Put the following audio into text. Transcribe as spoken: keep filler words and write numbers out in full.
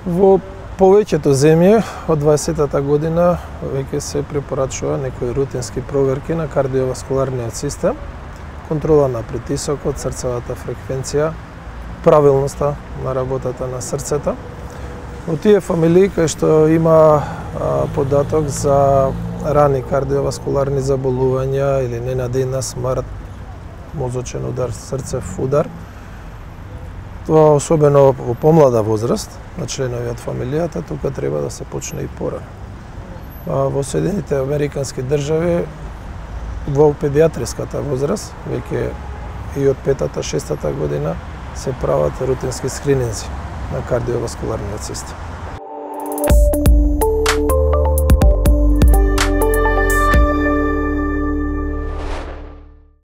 Во повеќето земји од дваесеттата година веќе се препорачува некои рутински проверки на кардиоваскуларниот систем, контрола на притисокот, срцевата фреквенција, правилноста на работата на срцето. Во тие фамилии кај што има а, податок за рани кардиоваскуларни заболувања или ненадејна смрт, мозочен удар, срцев удар, тоа особено во помлада возраст на членови од фамилијата, тука треба да се почне и порано. Во Соединетите Американски држави во педиатриската возраст, веќе и од петата, шестата година се прават рутински скрининзи на кардиоваскуларниот систем.